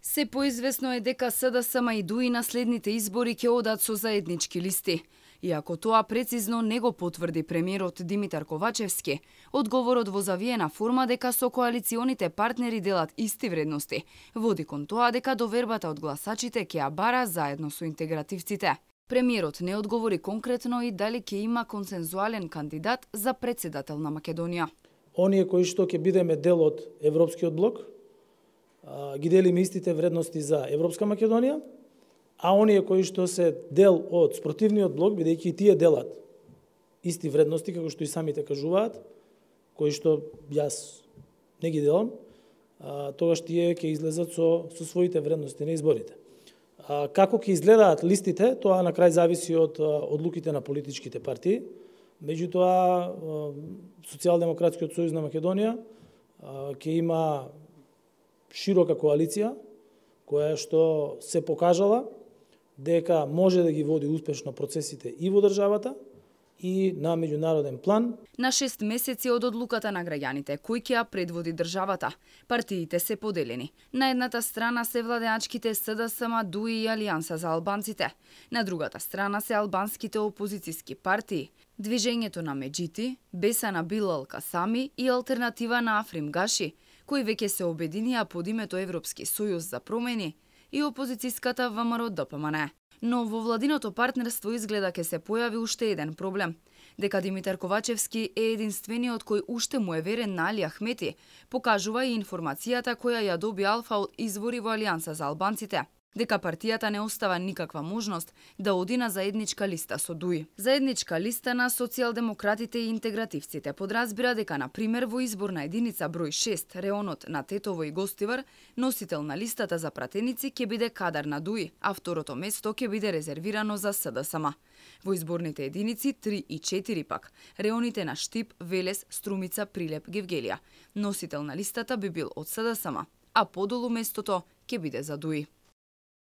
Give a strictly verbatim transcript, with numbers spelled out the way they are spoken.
Се поизвестно е дека СДСМ и ДУИ на следните избори ќе одат со заеднички листи. Иако тоа прецизно не го потврди премиерот Димитар Ковачевски, одговорот во завиена форма дека со коалиционите партнери делат исти вредности, води кон тоа дека довербата од гласачите ќе ја бара заедно со интегративците. Премиерот не одговори конкретно и дали ќе има консензуален кандидат за председател на Македонија. Оние кои што ќе бидеме дел од Европскиот блок, ги делиме истите вредности за Европска Македонија, а оние кои што се дел од спротивниот блок, бидејќи и тие делат исти вредности, како што и самите кажуваат, кои што јас не ги делам, тогаш тие ќе излезат со, со своите вредности на изборите. Како ќе изгледаат листите, тоа на крај зависи од одлуките на политичките партии. Меѓутоа, Социјалдемократскиот сојуз на Македонија ќе има широка коалиција, која што се покажала дека може да ги води успешно процесите и во државата, и на меѓународен план. На шест месеци од одлуката на граѓаните, кој ќе ја предводи државата, партиите се поделени. На едната страна се владеачките СДСМ, ДУИ и Алијанса за албанците. На другата страна се албанските опозициски партии, Движењето на Меджити, Бесана Билал Касами и Алтернатива на Африм Гаши, кои веќе се обединија под името Европски сојуз за промени, и опозицијската ВМРО Д П М Н. Но во владиното партнерство изгледа ке се појави уште еден проблем. Дека Димитар Ковачевски е единствениот кој уште му е верен на Али Ахмети, покажува и информацијата која ја доби Алфа од извори во Алијанса за албанците. Дека партијата не остава никаква можност да оди на заедничка листа со ДУИ. Заедничка листа на социјалдемократите и интегративците подразбира дека, на пример, во изборна единица број шест, реонот на Тетово и Гостивар, носител на листата за пратеници ќе биде кадар на ДУИ, а второто место ќе биде резервирано за СДСМ. Во изборните единици три и четири пак, реоните на Штип, Велес, Струмица, Прилеп, Гевгелија, носител на листата би бил од СДСМ, а подолу местото ќе биде за ДУИ.